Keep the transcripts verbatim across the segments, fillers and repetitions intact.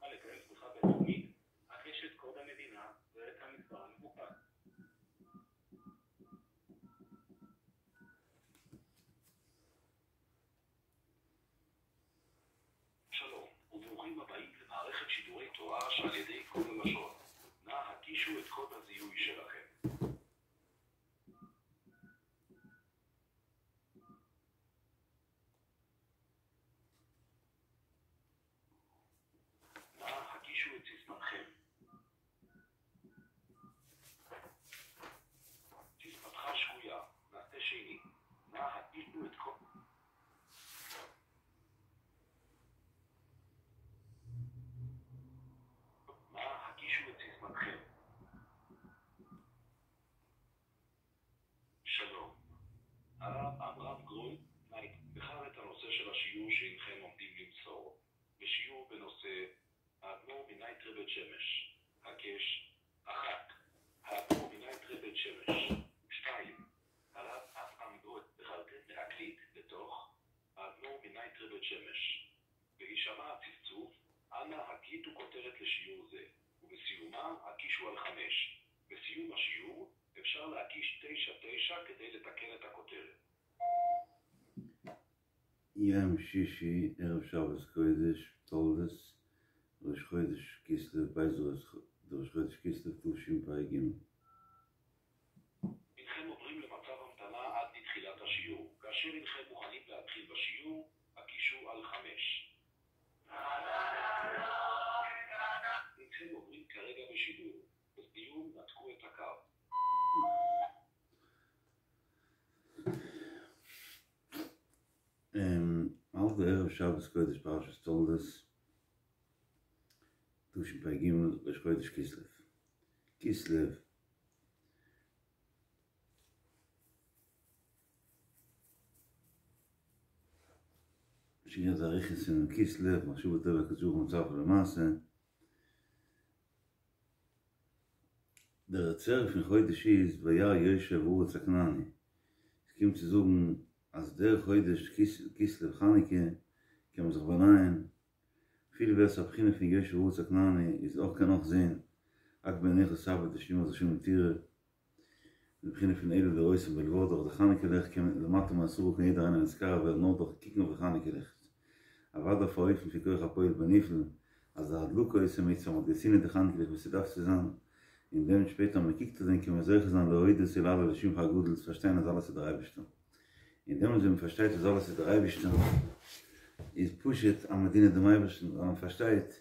לקיים תמיכה בינלאומית, הקש את קוד המדינה ואת המספר המבוקש. שלום, וברוכים הבאים למערכת שידורי תורה שעל ידי קוד הלשון. נא הקישו את קוד הזיהוי שלכם. נא הקישו את סיסמתכם. סיסמתך שגויה, נעשה שנית. נא הקישו את קוד... נא הקישו את סיסמתכם. שלום. הרב עמרם גרוי, בחר את הנושא של השיעור שהנכם עומדים למסור. בשיעור בנושא האדמו"ר מנייטרא בית שמש. הקש אחת. האדמו"ר מנייטרא בית שמש. שתיים. הרב עמרם גרוי בחרתם להקליט בתוך האדמו"ר מנייטרא בית שמש. בהישמע הצפצוף, אנא הקליטו כותרת לשיעור זה, ובסיומה הקישו על חמש. בסיום השיעור אפשר להקיש תשע תשע כדי לתקן את הכותרת. יום שישי, ערב שבת קודש, תולדות, ראש חודש כסלו, בית ראש חודש כסלו, תשפ"ג. הנכם עוברים למצב המתנה עד לתחילת השיעור. כאשר הנכם מוכנים להתחיל בשיעור, הקישו על חמש. הנכם עוברים כרגע בשידור. בסיום נתקו את הקו. האלט די ערב שבת קודש פרשת תולדות, תשפ"ג, ראש חודש כסלו. כסלו שיהיה תאריך אין כסלו, מחשוב הטבע כתוב מצב למעשה. דער צער פון חודש איז וירא יושב ארץ הכנעני. עס קומט צו זאגן אז דער חודש כסלו חנוכה קען מען זיך באנייען. אפילו ווער עס א בחינה פון יושב ארץ הכנעני איז אויך קען אויך זען רק בעיניך תביט ושמך זשום תראה. די בחינה פון אלו לראותם בלבד, דורך די חנוכה ליכט קען מען למטה מעשרה קען יעדער איינער נתקרב ווערן נאר דורך קוקן אויף די חנוכה ליכט. אוודאי אויף א אופן פון כח הפועל בנפעל, אז די הדלקה עושה מצוה, מ'האט געצינדען די חנוכה ליכט ווי ס'דארף צו זיין, און דעם שפעטער מען קוקט אויף דעם קען מען זוכה זיין להודות ולהלל לשמך הגדול צו פארשטיין אז אלעס איז דער אייבערשטער. און דעמאלטס ווען מען פארשטייט אז אלעס איז דער אייבערשטער, איז פשוט אז מען דינט דעם אייבערשטן, ווייל מען פארשטייט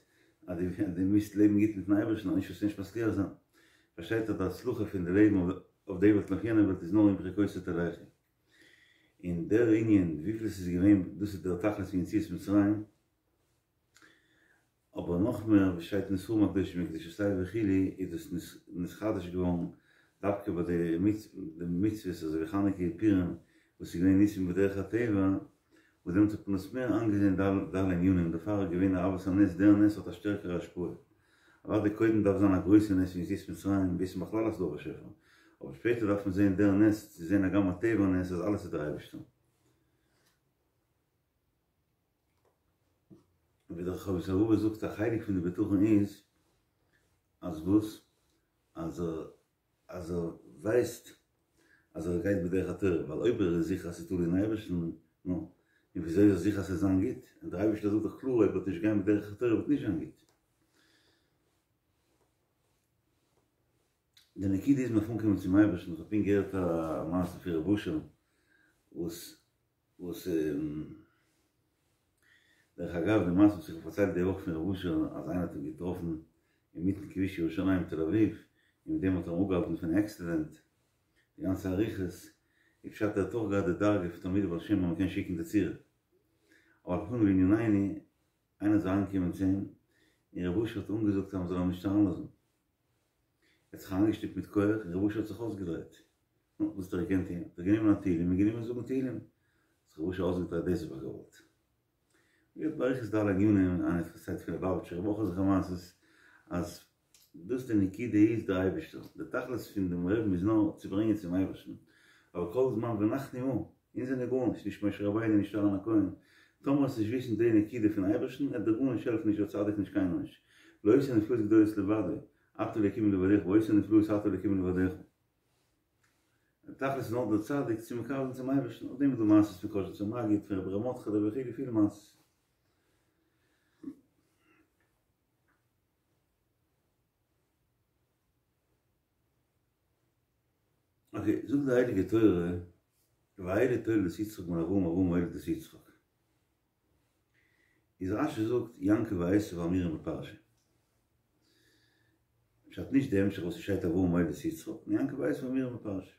אז דו מוזט לעבן גוט מיטן אייבערשטן, אנישט וועסטו נישט מצליח זיין. פארשטייט אז די הצלחה פון די לעבן אויף די וועלט און אויף יענע וועלט איז נאר אם בחוקותי תלכו. און דער ענין וויפיל עס איז געווען, דאס איז דער תכלית פון יציאת מצרים, אבער נאך מער ווי שטייט אין ספרים הקדושים אין קדושת לוי וכו' איז דאס נתחדש געווארן דווקא ביי די מצוות אזוי ווי חנוכה און פורים וואס איז געווען ניסים בדרך הטבע, וואס דעמאלטס האט מען עס מער איינגעזען די אלע ענינים, דערפאר איז געווען אהבת הנס, דער נס האט א שטערקערע השפעה. אוודאי קודם דארף זיין א גרויסע נס פון יציאת מצרים, וויסן בכלל אז ס'דא א באשעפער, אבער שפעטער דארף מען זען דער נס צו זען הגם א טבע נס אז אלעס איז דער אייבערשטער. ווי דער חובת הלבבות זאגט א חלק פון די בטחון איז אז וואס? אז ער אז ער ווייסט אז ער גייט בדרך התורה, ווייל אויב ער איז זיכער אז ס'איז תלוי אין אייבערשטן, נו, און וויאזוי איז ער זיכער אז ס'וועט זיין גוט? און דער אייבערשטער זאגט דאך קלאר אויב ער וועט נישט גיין בדרך התורה וועט נישט זיין גוט. די נקודה איז מ'דארף אנקומען צום אייבערשטן, איך האב פונקט געהערט א מעשה פון ר' אשר וואס וואס דרך אגב די מעשה וואס איך האב פארציילט די וואך פון ר' אשר אז איינער האט אים געטראפן אינמיטן כביש ירושלים תל אביב און מיט דעם האט ער אים אפגעהאלטן פון עקסידענט די גאנצע אריכות איז פשט ער האט אויך געהאט די דרגה פון תלמידי בעל שם אז מען קען שיקן די צורה אבער על כל פנים לענינינו איינער איז אריינגעקומען צו אים און ר' אשר האט אנגעזאגט אז מען זאל אים נישט אריינלאזן ער האט זיך אריינגעשטופט מיט כח און ר' אשר האט זיך אויסגעדרייט נו, וואס האט ער געקענט טון? האט ער גענומען א תהילים און גענומען זאגן תהילים. האט זיך ר' אשר אויסגעדרייט דאס האב איך געוואלט. געהערט באריכות די אלע ענינים, איינער האט פארציילט פון ליובאוויטשער רב אויך אזעלכע מעשות, אז דאס די נקודה איז דער אייבערשטער, די תכלית פון דעם רעבן איז נאר צו ברענגען צום אייבערשטן, אבער כל זמן ונחנו מה, אונז זענען גארנישט, נישט משה רבינו נישט אהרן הכהן, טאמער וועסט נישט וויסן די נקודה פון אייבערשטן, עט דיר גארנישט העלפן נישט דער צדיק נישט קיינער נישט, לא עושה נפלאות גדולות לבדו, אתה אלוקים לבדך, ועושה נפלאות אתה אלוקים לבדך. תכלית איז נאר דער צדיק צו מקרב זיין צום אייבערשטן, אויף דעם איז דא מעשיות פון קאזשניצער מגיד, פון רבי ר' מרדכי'לע וכו' פילע מעשיות. אקעי, זאגט די הייליגע תורה, ואלה תולדות יצחק בן אברהם אברהם הוליד את יצחק. איז רשי זאגט יעקב ועשו האמורים בפרשה. פשט נישט די המשך וואס ס'שטייט אברהם הוליד את יצחק, נאר יעקב ועשו האמורים בפרשה.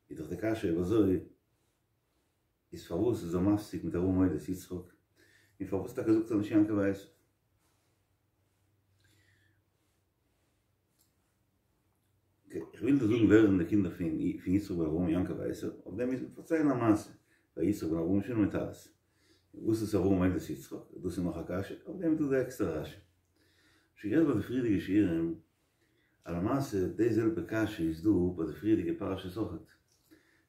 איז דאך די קשיא אויב אזוי איז פארוואס איז ער מפסיק מיט אברהם הוליד את יצחק, און פארוואס טאקע זאגט ער נישט יעקב ועשו? איך וויל דיר זאגן ווער זענען די קינדער פון יצחק בן אברהם יעקב ועשו, אויף דעם מוז מען פארציילן א מעשה, ווייל יצחק בן אברהם איז שוין מיט אלעס. וואס איז אברהם הוליד את יצחק? דאס איז נאך א קשיא, אויף דעם איז דא די עקסטערע רשי. שוין גערעדט ביי די פריערדיגע שיעורים אז למעשה די זעלבע קשיא איז דא ביי די פריערדיגע פרשות אויכעט.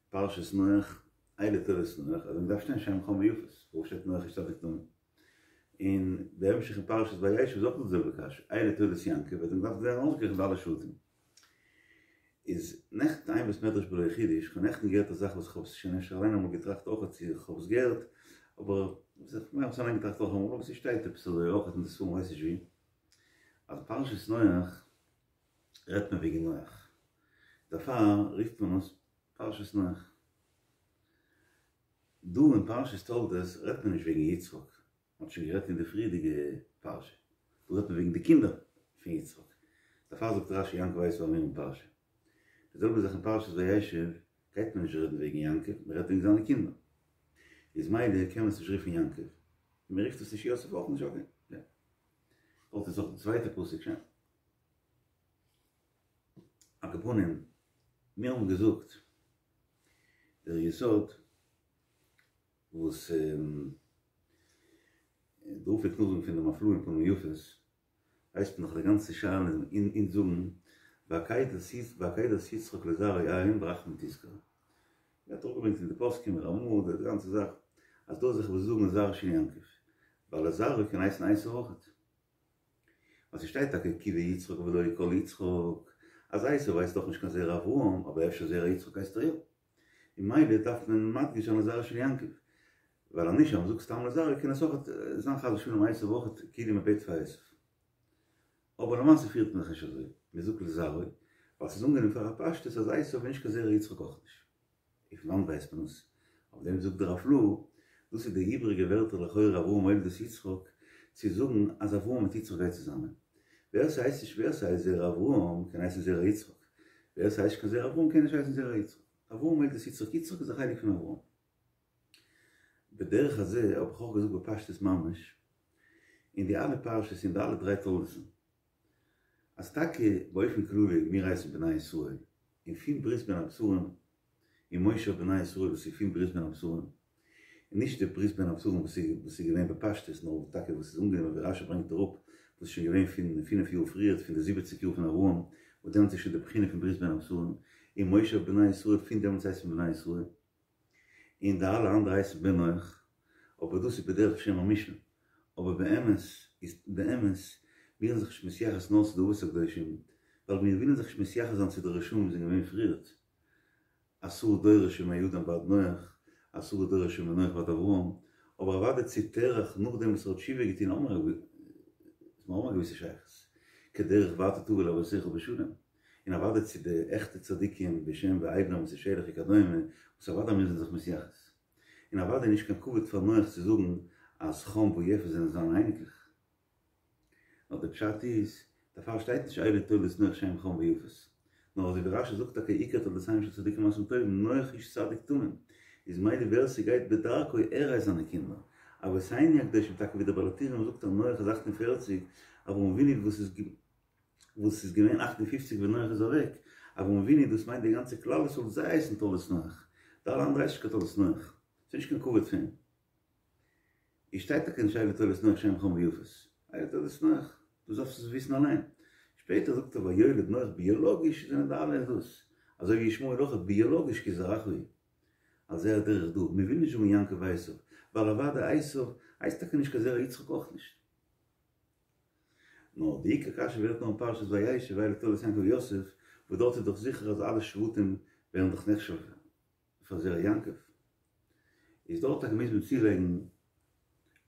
פרשת נח, אלה תולדות נח, אז מ'דארף שטיין שם חם ויפת, פארוואס שטייט נח איש צדיק תמים? און בהמשך אין פרשת וישב איז אויך די זעלבע קשיא, אלה תולדות יעקב, וועט מען דארפן זען אויסגערעכנט אלע שבטים. איז נעכטן אין בית מדרש בלא חידוש, כ'האב נעכטן געהערט א זאך וואס כ'האב עס שוין אפשר אליין אמאל געטראכט אויך צו כ'האב עס געהערט, אבער כ'מיין כ'האב עס אליין געטראכט אויך אמאל, אבער ס'שטייט עפעס אזוי אויך אין די ספרים כ'ווייס נישט ווי, אז פרשת נח רעדט מען וועגן נח, דערפאר רופט מען עס פרשת נח. דא אין פרשת תולדות רעדט מען נישט וועגן יצחק, מען האט שוין גערעדט אין די פריערדיגע פרשה, דא רעדט מען וועגן די קינדער פון יצחק, דערפאר זאגט רשי יעקב ועשו האמורים בפרשה. די זעלבע זאך אין פרשת וישב גייט מען נישט רעדן וועגן יעקב, מען רעדט וועגן זיינע קינדער, איז מילא קען מען עס נישט רופן יעקב, און מען רופט עס נישט יוסף אויך נישט, אקעי, יא. דארט איז אויך די צווייטע פסוק שוין. על כל פנים, מיר האבן געזאגט דער יסוד וואס דער רב פלעגט נאכזאגן פון די הפלאה אין פנים יפות, ווייסט מען דאך די גאנצע שאלה און אונז זאגן בעקידת יצחק לזרעו אין ברחמים תזכור. ווערט אראפגעברענגט אין די פוסקים רמ"א די גאנצע זאך אז דא זיך וואס זאגן לזרעו של יעקב, ווייל לזרעו קען הייסן עשו אויכעט. ווייל ס'שטייט טאקע כי ביצחק ולא כל יצחק, אז עשו הייסט דאך נישט קיין זרע אברהם, אבער אפשר זרע יצחק הייסט ער יא. און מילא דארף מען מדגיש זיין לזרעו של יעקב. ווייל אז נישט אז מ'זאגט סתם לזרעו קען עס אויך זיין חס ושלום עשו אויכעט כאילו מ'בעט פאר עשו. אבער למעשה פירט מען זיך נישט אזוי, מ'זאגט לזרעו, ווייל ס'איז אנגענומען פאר א פשטות אז עשו איז נישט קיין זרע יצחק אויך נישט. און פון וואנט ווייסט מען עס? אויף דעם זאגט דער הפלאה, דאס איז די איבריגע ווערטער לכאורה אברהם הוליד את יצחק, צו זאגן אז אברהם מיט יצחק גייט צוזאמען. ווער ס'הייסט נישט ווער ס'הייסט זרע אברהם קען הייסן זרע יצחק, ווער ס'הייסט נישט קיין זרע אברהם קען נישט הייסן זרע יצחק. אברהם הוליד את יצחק, יצחק איז א חלק פון אברהם. בדרך הזה האב איך אויך געזאגט בפשטות ממש, אין די אלע פרשות אין די אלע דריי תולדות'ן, אז טאקע באופן כללי מיר הייסן בני ישראל, און פון ברית בין הבתרים און מושב בני ישראל וואס איז פון ברית בין הבתרים, און נישט די ברית בין הבתרים וואס איז געווען בפשטות נאר טאקע וואס איז אנגענומען ווי רשי ברענגט אראפ וואס איז שוין געווען פון פינף יאר פריערט פון די זיבעציג יאר פון אברהם וואס דעמאלטס איז שוין די בחינה פון ברית בין הבתרים און מושב בני ישראל פון דעמאלטס הייסט מען בני ישראל און די אלע אנדערע הייסן בני נח אבער דאס איז בדרך שם המשנה אבער באמת איז באמת מיר זענען זיך נישט מתייחס נאר צו די אבות הקדושים ווייל מיר ווילן זיך נישט מתייחס זיין צו די רשעים וואס זענען געווען פריערט עשרה דורות שמאדם ועד נח, עשרה דורות שמנח ועד אברהם, אבער אוודאי צו תרח נאכדעם וואס ער האט תשובה געטון האבן מיר א געוויסע שייכות, כדרך ואתה תבוא אל אבותיך בשלום, און אוודאי צו די עכטע צדיקים ושם ועבר ומתושלח וכדומה, וואס אוודאי מיר זענען זיך מתייחס. און אוודאי נישט קיין כבוד פאר נח צו זאגן אז חם ויפת זענען זיינע אייניקלעך. נאר די פשט איז, דערפאר שטייט נישט אלה תולדות נח שם חם ויפת, נאר אזוי ווי רשי זאגט טאקע עיקר תולדותיהם של צדיקים מעשים טובים, נח איש צדיק תמים, איז מילא ווער ס'גייט בדרכו ער הייסט זיינע קינדער, אבותינו הקדושים טאקע ווי דער בעל הטורים זאגט אז נח איז אַכט און פֿערציק, אברהם אבינו וואס איז וואס איז געווען אַכט און פֿופֿציק ווען נח איז אוועק, אברהם אבינו דאס מיינט די גאנצע כלל ישראל זיי הייסן תולדות נח, די אלע אנדערע הייסט נישט קיין תולדות נח, ס'איז נישט קיין כבוד פון. עס שטייט טאקע נישט אלה תולדות נח שם חם ויפת, אלה תולדות נח, דאס דארפסטו זיך וויסן אליין. שפעטער זאגט ער ויולד נח ביאלאגיש זענען די אלע דאס, אזוי ווי ישמעאל אויך ביאלאגיש כי זרעך הוא. על זה הדרך דא, מען וויל נישט זאגן יעקב ועשו, ווייל אוודאי עשו הייסט טאקע נישט קיין זרע יצחק אויך נישט. נאר די עיקר קשיא ווערט נאר אין פרשת וישב ואלה תולדות יעקב ויוסף, וואס דארט איז דאך זיכער אז אלע שבטים ווערן דאך נחשב פאר זרע יעקב. איז דארט טאקע מוז מען צולייגן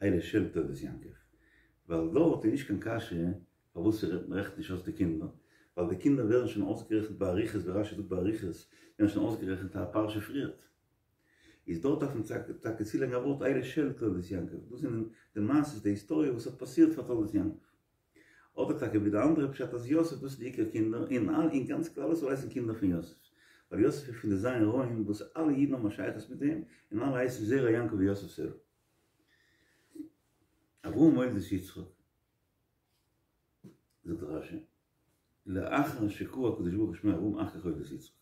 אלה של תולדות יעקב, ווייל דארט איז נישט קיין קשיא פארוואס מען רעכנט נישט אויס די קינדער, ווייל די קינדער ווערן שוין אויסגערעכנט באריכות, ווי רשי זאגט באריכות, ווערן שוין אויסגערעכנט א פרשה פריערט. איז דארט דארף מען טאקע צולייגן א ווארט אלה של תולדות יעקב, דאס זענען די מעשות, די היסטאריע וואס האט פאסירט פאר תולדות יעקב. אדער טאקע ווי די אנדערע פשט אז יוסף דאס איז די עיקר קינדער, און און גאנץ כלל ישראל הייסן קינדער פון יוסף, ווייל יוסף איז פון די ז' רועים וואס אלע אידן האבן א שייכות מיט אים, און אלע הייסן זרע יעקב ויוסף סלה. אברהם הוליד את יצחק, זאגט רשי, לאחר שקרא הקדוש ברוך הוא שמו אברהם אחר כך הוליד את יצחק.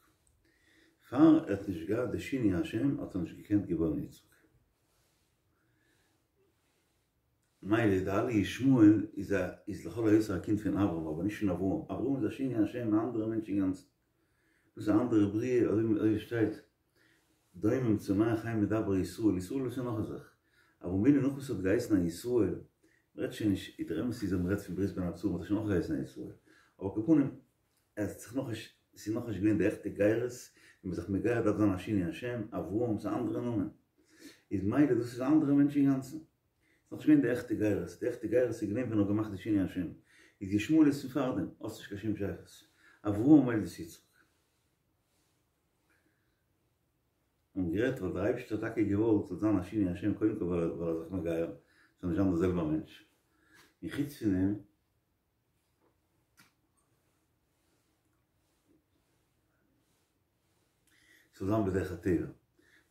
פאר ער האט נישט געהאט די שינוי השם האט ער נישט געקענט געבוירן יצחק. מילא די אלע ישמעאל איז א איז לכל היותר א קינד פון אברהם אבער נישט פון אברהם, אברהם איז א שינוי השם א אנדערע מענטש אינגאנצן, דאס איז א אנדערע בריאה אזוי ווי שטייט דומם צומח חי מדבר ישראל, ישראל איז שוין נאך א זאך, אברהם אבינו נאך וואס האט געהייסן א ישראל, מ'רעדט שוין נישט, דער אמת איז אז מ'רעדט פון ברית בין הבתרים האט ער שוין אויך געהייסן א ישראל, אבער על כל פנים ער האט זיך נאכנישט, ס'איז נאכנישט געווען די עכטע גירות, ווען מ'איז זיך מגייר דארף זיין א שינוי השם, אברהם ס'איז א אנדערע נאמען, איז מילא דאס איז א אנדערע מענטש אינגאנצן. ס'איז נאכנישט געווען די עכטע גירות, די עכטע גירות איז געווען ווען ער האט געמאכט די שינוי השם, איז ישמעאל איז פון פארדעם, האסט נישט קיין שום שייכות, אברהם הוליד את יצחק. און גערעדט ווייל דער אייבערשטער האט טאקע געוואלט ס'זאל זיין א שינוי השם קודם כל ווייל ער איז זיך מגייר, ס'זאל נישט זיין דער זעלבער מענטש, און חוץ פון דעם, ס'זאל זיין בדרך הטבע,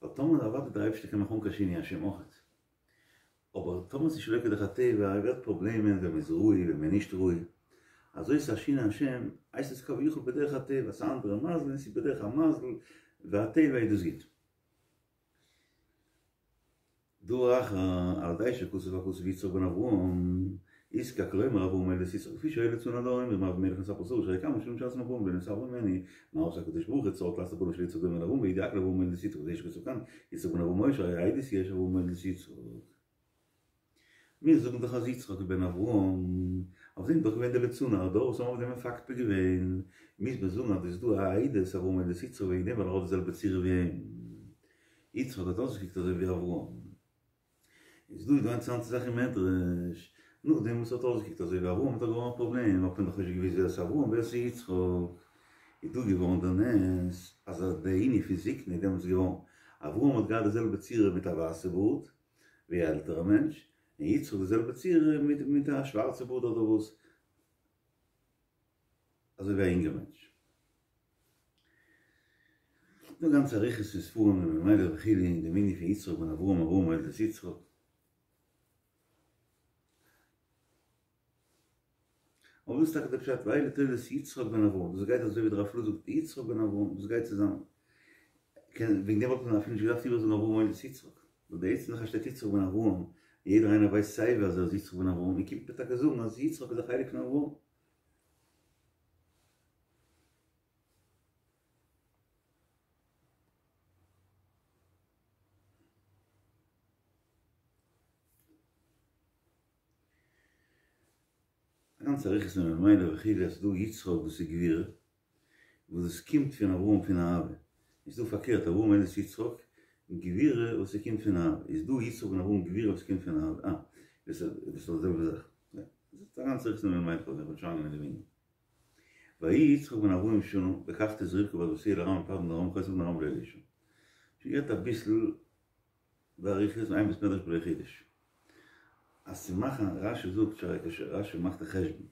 ווייל טאמער אוודאי דער אייבערשטער קען מאכן אן קיין שינוי השם אויכעט, אבער טאמער ס'איז שלא כדרך הטבע ווערט פראבלעמען ווען מ'איז ראוי ווען מ'איז נישט ראוי, אזוי ס'איז א שינוי השם הייסט עס כביכול בדרך הטבע, ס'איז א אנדערע מזל און ס'איז בדרך המזל והטבע איז דאס גוט. דבר אחר, על ידי שכתב הכתוב יצחק בן אברהם, יזקק לומר אברהם הוליד את יצחק לפי שהיו ליצני הדור אומרים אבימלך נתעברה שרה שהרי כמה שנים שעשו אברהם ולא נתעברה ממנו מה עשה הקדוש ברוך הוא צריך לעשות בנו של יצחק דומה לאברהם וידאג לאברהם הוליד את יצחק וזה שכתוב כאן יצחק בן אברהם היה שהרי עדות יש אברהם הוליד את יצחק מיר זאגן דאך אז יצחק איז בן אברהם, אויף דעם איז דאך געווען די ליצני הדור וואס האבן אויף דעם מפקפק געווען, מוז מען זאגן אז עס איז דא א עדות אברהם הוליד את יצחק וועגן דעם ווייל ער האט די זעלבע צורה ווי אים. יצחק האט אויסגעקוקט אזוי ווי אברהם. איז דא איז דא א אינטערעסאנטע זאך אין מדרש, נאכדעם וואס ער האט אויסגעקוקט אזוי ווי אברהם האט ער געווארן א פראבלעם, האט מען דאך נישט געוואוסט ווער עס איז אברהם ווער עס איז יצחק, איז דא געווארן דער נס אז די ענין פון זקנה איז דעמאלטס געווארן, אברהם האט געהאט די זעלבע צורה מיט א ווייסע בארד ווי א עלטערע מענטש, און יצחק די זעלבע צורה מיט מיט א שווארצע בארד אדער וואס, אזוי ווי א אינגער מענטש. דא גאנצע אריכות פון ספרים און ממילא וכו' אין דעם ענין פון יצחק בן אברהם אברהם הוליד את יצחק. אבער דאס איז טאקע דער פשט ואלה תולדות יצחק בן אברהם, דאס גייט אזוי ווי דער רב פלוג זאגט יצחק בן אברהם, דאס גייט צוזאמען. קען וועגן דעם וואלט מען אפילו נישט געדארפט איבערזאגן אברהם הוליד את יצחק, ווייל די עצם זאך אז שטייט יצחק בן אברהם, און יעדער איינער ווייסט סייווי אז ער איז יצחק בן אברהם, און קומט מען טאקע זאגן אז יצחק איז א חלק פון אברהם. א גאנצע אריכות אין ממילא וכו' אז ס'דא יצחק וואס איז גבורה וואס דאס קומט פון אברהם פון אהבה, איז דא פארקערט אברהם הוליד את יצחק גבורה וואס ס'קומט פון אהבה, איז דא יצחק בן אברהם גבורה וואס קומט פון אהבה, אה, דאס איז די זעלבע זאך, יא, דאס איז א גאנצע אריכות אין ממילא כ'וועל נישט אריינגיין אין דעם ענין. ויהי יצחק בן ארבעים שנה, בקחתי את רבקה בת בתואל ארמי פדן ארם חותן פדן ארם ולא לאשה. שוין גערעדט אביסל באריכות אין בית מדרש בלא חידוש. אז צו מאכן, רשי זאגט שהרי כש רשי מאכט א חשבון,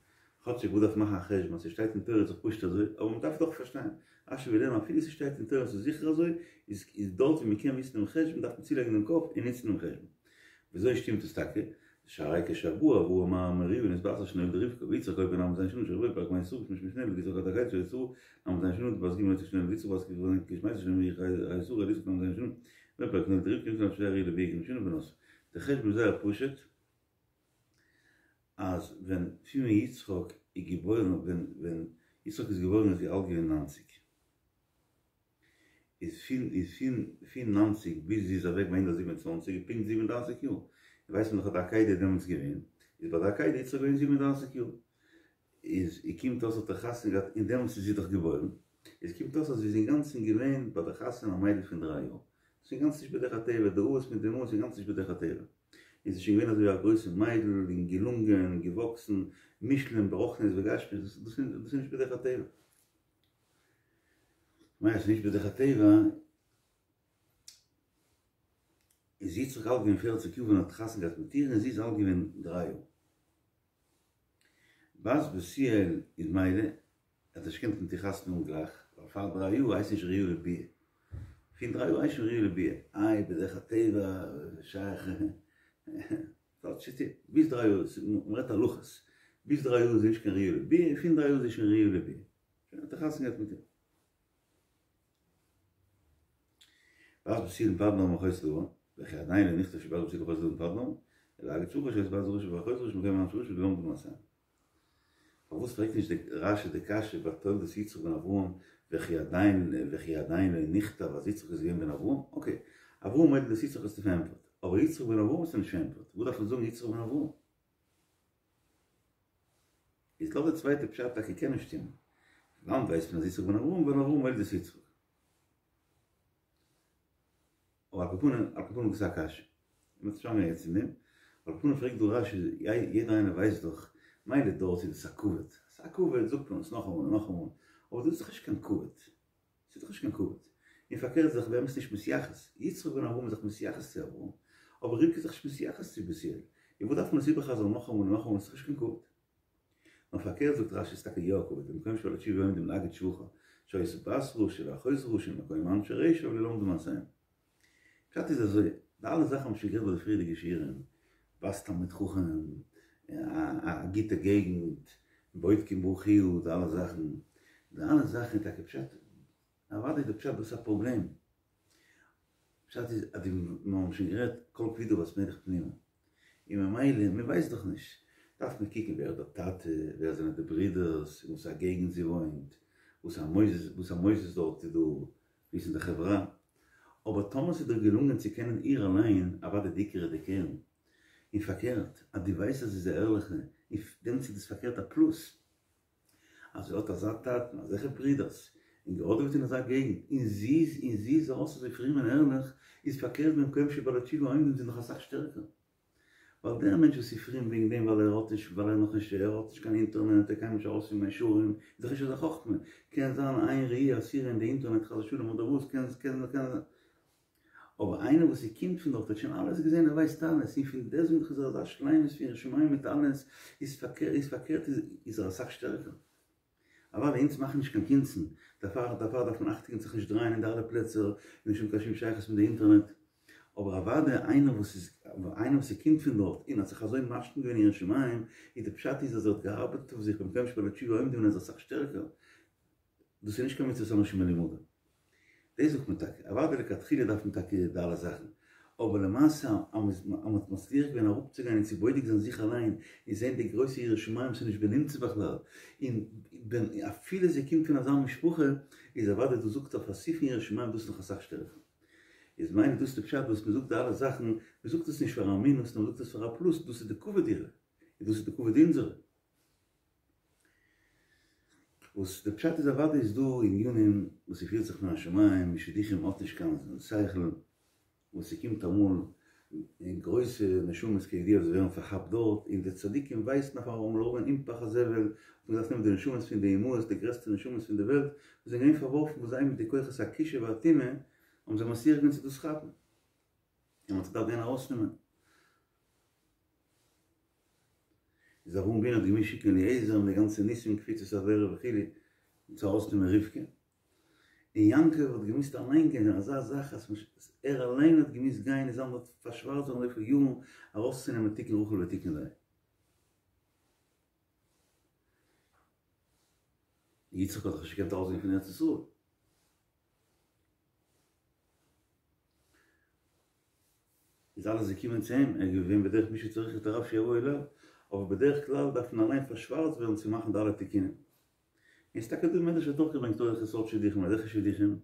כאטשיג וואס דארף מאכן א חשבון אז ס'שטייט אין תורה איז דאך פשוט אזוי, אבער מ'דארף דאך פארשטיין, רשי וויל לערנען אפילו ס'שטייט אין תורה ס'איז זיכער אזוי, איז איז דארט ווי מ'קען וויסן דעם חשבון דארף מען צולייגן דעם קאפ און נוצן דעם חשבון. וויאזוי שטימט עס טאקע? שהרי כשבא אברהם מהר המוריה נתבשר שנולדה רבקה ויצחק היה בן ל"ז שנה שרבקה פרק מאה שרה בשמש שנולד יצחק עד הקיץ של שרה ל"ז שנה בת ג' יצחק שנולד יצחק בת ג' כשמעיה שנולד חיי שרה אל יצחק ל"ז שנה ופרק נולדה רבקה יצחק שהרי לוי ג' שנה ונשא די חשבון איז זייער פשוט אז ווען פון ווען יצחק איז געבוירן ווען ווען יצחק איז געבוירן איז זי אלט געווען נײַנציק. איז פון איז פון פון נײַנציק ביז זי איז אוועק ביי הונדערט זיבן און צוואַנציק איז פונקט זיבן און דרײַסיק יאר, און ווייסט מען דאך אז די עקידה איז דעמאלטס געווען, איז ביי די עקידה יצחק געווען זיבן און דרײַסיק יאר, איז איר קומט אויס האט ער חתונה געהאט און דעמאלטס איז זי דאך געבוירן, איז קומט אויס אז זי איז אינגאנצן געווען ביי די חתונה א מיידל פון דריי יאר, ס'איז אינגאנצן נישט בדרך הטבע, די אבות מיט די אמהות איז אינגאנצן נישט בדרך הטבע, און זי איז שוין געווען אזוי א גרויסע מיידל און געלונגען און געוואקסן, מושלם ברוחניות וגשמיות, דאס איז נישט בדרך הטבע. כ'מיין אז ס'איז נישט בדרך הטבע, איז יצחק אלט געווען פערציג יאר ווען ער האט חתונה געהאט מיט איר און זי איז אלט געווען דריי יאר. בת בתואל איז מילא, ער האט נישט געקענט מיט איר חתונה האבן גלייך, ווייל פאר דריי יאר הייסט נישט ראויה לביאה. פון דריי יאר הייסט שוין ראויה לביאה. איי בדרך הטבע שייך ביז דריי יאר, מ'רעדט הלכות, ביז דריי יאר איז נישט קיין ראויה לביאה, פון דריי יאר איז זי שוין ראויה לביאה. שוין האט ער חתונה געהאט מיט איר. בת בתואל מפדן ארם אחות לבן, וכי עדיין לא נכתב שבת בתואל אחות לבן מפדן ארם, אלא להגיד שבחה שהיתה בת רשע ואחות רשע במקום אנשי רשע ולא למדו מעשיהם. פארוואס פרעגט נישט די רשי די קשיא ביי תולדות יצחק בן אברהם וכי עדיין וכי עדיין לא נכתב אז יצחק איז געווען בן אברהם? אקעי, אברהם מוליד את יצחק האסטו פארענטפערט, אבער יצחק בן אברהם האסטו נישט פארענטפערט, וואס דארף מען זאגן יצחק בן אברהם? איז לויט די צווייטע פשט טאקע קען נישט שטימען. וואנעט ווייסט מען אז יצחק בן אברהם ווייל אברהם מוליד את יצחק. אבער על כל פנים, על כל פנים דאס איז א קשיא. מ'וועט נישט אריינגיין יעצט אין דעם. על כל פנים פרעגט דא רשי, יעדער איינער ווייסט דאך, מילא דארט איז עס א כבוד. ס'איז א כבוד זאגט מען עס נאכאמאל און נאכאמאל. אבער דאס איז דאך נישט קיין כבוד. ס'איז דאך נישט קיין כבוד. און פארקערט איז דאך באמת נישט מתייחס. יצחק בן אברהם איז דאך מתייחס צו אברהם. אבער רבקה איז דאך נישט מתייחס צו בתואל. און וואס דארף מען עס איבערחזר'ן נאכאמאל און נאכאמאל? ס'איז דאך נישט קיין כבוד. נאר פארקערט זאגט רשי ס'איז טאקע יא א כבוד, במקום שבעלי תשובה עומדים להגיד שבחה, שהיתה בת רשע ואחות רשע במקום אנשי רשע ולא למדו מעשיהם. פשט איז אזוי, די אלע זאכן האבן שוין גערעדט ביי די פריערדיגע שיעורים, בת תלמיד חכם, א גוטע געגנט, בודקים ברכיה, די אלע זאכן, די אלע זאכן איז טאקע פשט, אוודאי איז די פשט דאס א פראבלעם, פשט איז אז די מיר האבן שוין גערעדט כל כבודה בת מלך פנימה, און ממילא מען ווייסט דאך נישט, דארף מען קוקן ווער איז דער טאטע, ווער זענען די ברידערס, אין וואס א געגנט זי וואוינט, וואס א מוסדות וואס א מוסדות דארט איז דא, ווי איז אין די חברה, אבער טאמער ס'איז דיר געלונגען צו קענען איר אליין, אוודאי די עיקר איז די קרן, און פארקערט אז דו ווייסט אז זי איז א ערליכע, און דעמאלטס איז דאס פארקערט א פלוס. אז זי האט אזא טאטן, אזעלכע ברידערס, און געהאדעוועט אין אזא געגנט, און זי איז און זי איז ארויס אזוי פרום און ערליך, איז פארקערט במקום שבעלי תשובה עומדים זי נאך אסאך שטערקער. ווייל דער מענטש וואס איז פרום וועגן דעם ווייל ער האט נישט ווייל ער נאך נישט ער האט נישט קיין אינטערנעט ער קען נישט ארויס פון מאה שערים, איז דאך נישט אזא חכמה, קען זיין איין ראי' אסורה אין די אינטערנעט חס ושלום אדער וואס קען קען קען אבער איינער וואס ער קומט פון דארט האט שוין אלעס געזען ער ווייסט אלעס און פון דעסוועגן איז ער אזא שלימות פון יראת שמים מיט אלעס איז פארקערט איז פארקערט איז ער אסאך שטערקער. אוודאי אונז מאכן נישט קיין קונצן דערפאר דערפאר דארף מען אכטונג זיך נישט דרייען אין די אלע פלעצער און נישט האבן קיין שום שייכות מיט די אינטערנעט אבער אוודאי איינער וואס איז איינער וואס ער קומט פון דארט און האט זיך אזוי משלים געווען אין יראת שמים איז די פשט איז אז ער האט געארבעט אויף זיך במקום שבעלי תשובה עומדים און ער איז אסאך שטערקער דאס איז נישט קיין מצוות אנשים מלומדה. דאס זאגט מען טאקע. אוודאי לכתחילה דארף מען טאקע די אלע זאכן. אבער למעשה אז מען האט מצליח געווען אראפצוגיין און צו בודק זיין זיך אליין און זען די גרויסע יראת שמים ס'איז נישט בנמצא בכלל, און ווען אפילו זי קומט פון אזא משפחה, איז אוודאי דאס זאגט אויף א סוף יראת שמים דאס איז נאך אסאך שטערקער. איז מיין איך דאס איז די פשט וואס מען זאגט די אלע זאכן, מען זאגט עס נישט פאר א מינוס נאר מען זאגט עס פאר א פלוס, דאס איז די כבוד אירע, און דאס איז די כבוד אונזערע. וואס די פשט איז אוודאי איז דא ענינים וואס ס'פירט זיך מן השמים, שידוכים האט נישט קיין שכל, וואס ס'קומט אמאל אין גרויסע נשמות כידוע וואס ווערן פארכאפט דארט, און די צדיקים ווייסן אויף אמאל אויך אין פח הזבל, האט מען געדארפט נעמען די נשמות פון די אמהות די גרעסטע נשמות פון די וועלט, וואס זענען געווען פארווארפן וואס זיי מיט די כוחות הכישוף והטומאה האבן זיי מצליח געווען צו דאס כאפן, און מ'האט זיי געדארפט גיין ארויסנעמען. איז אברהם אבינו האט געמוזט שיקן אליעזר מיט די גאנצע ניסים קפיצת הדרך וכו' צו ארויסנעמען רבקה, און יעקב האט געמוזט אליין גיין אזא זאך אז ער אליין האט געמוזט גיין און זיין דארט פארשווארצט ווערן אזויפיל יארן ארויסצונעמען תיקון רחל ותיקון לאה. יצחק האט דאך נישט געקענט ארויסגיין פון ארץ ישראל. איז אלעס געקומען צו אים, ער איז געווען בדרך מי שצריך את הרב שיבוא אליו, אבער בדרך כלל דארף מען אליין פארשווארצט ווערן צו מאכן די אלע תיקונים. און ס'טאקע דא מדרש האט אויך געברענגט אזעלכע סארט שידוכים, אזעלכע שידוכים,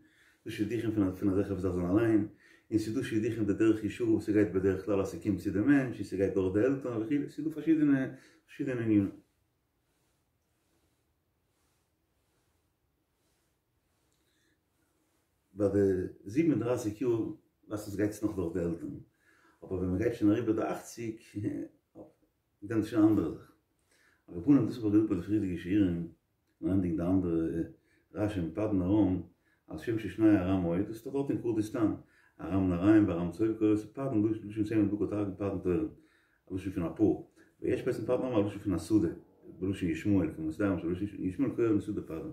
דא שידוכים פון פון אזעלכע וואס דארף זיין אליין, און ס'דא שידוכים בדרך ישרה וואס ס'גייט בדרך כלל אז ס'קומט צו די מענטש און ס'גייט דורך די עלטערן וכו', ס'דא פארשידענע פארשידענע ענינים. ביי די זיבן און דרײַסיק יאר ווייסט עס גייט עס נאך דורך די עלטערן, אבער ווען מען גייט שוין אריבער די אַכציק דען איז שוין א אנדערע זאך. על כל פנים דאס האב איך געזאגט ביי די פריערדיגע שיעורים, און ענדיגן די אנדערע רשי אין פדן ארם, על שם ששני ארם היו, דאס איז דאך דארט אין קורדיסטאן, ארם נהריים וארם צובה קורא עס פדן לשון צמר בקר תרגום פדן תורין, א לשון פון א פאר, ויש בעצם פדן ארם א לשון פון א שדה, בלשון ישמעאל, כמסדר בלשון ישמעאל קורא שדה פדן.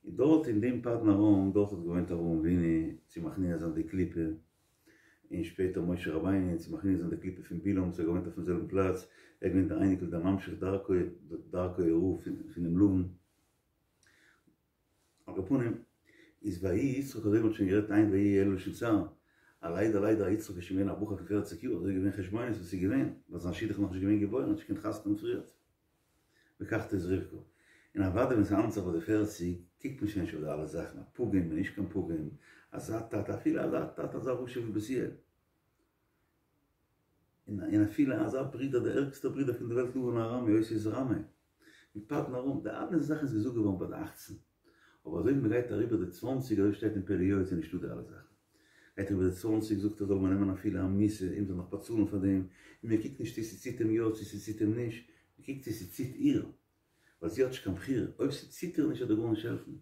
און דארט אין דעם פדן ארם, דארט האט געוואוינט אברהם אבינו צו מכניע זיין די קליפה, און שפעטער משה רבינו צו מכניע זיין די קליפה פון בלעם וואס האט געוואוינט אויפן זעלבן פלאץ, ער איז געווען דער אייניקל דער ממשיך דרכו דרכו הרעה פונעם לבן. על כל פנים, איז ויהי יצחק אזוי ווי מ'האט שוין גערעדט אין ויהי אלא לשון צער, א ליידער ליידער א יצחק איז שוין געווען א בחור פון פערציג יאר, אזוי איז געווען חשבונות וואס איז געווען, ווייל זיין שידוך איז נאכנישט געווען געבוירן, האט נישט געקענט חתונה האבן פריערט. לקחת את רבקה. און אוודאי ווען ס'האנדלט זיך ביי די פערציג, קוקט מען שוין נישט אויף די אלע זאכן, א פגם און נישט קיין פגם, אזא טאטע, אפילו אזא טאטע אזא רשע ווי בתואל, און אפילו אזא ברודער דער ערגסטער ברודער פון די וועלט לבן הארמי אותיות רמי, מיט פדן ארם, די אלע זאכן איז געזאגט געווארן ביי די אכצן, אבער אזוי ווי מ'גייט אריבער די צוואנציג אזוי שטייט אין פלא יועץ איז נישטא די אלע זאכן. גייט אריבער די צוואנציג זאגט ער זאל מען נעמען אפילו א מיתה און מ'זאל נאך באצאלן פאר דעם, און מען קוקט נישט צו ס'ציט אים יא צו ס'ציט אים נישט, מען קוקט צו ס'ציט איר, ווייל זי האט נישט קיין בחירה, אויב ס'ציט איר נישט וועט דיר גארנישט העלפן,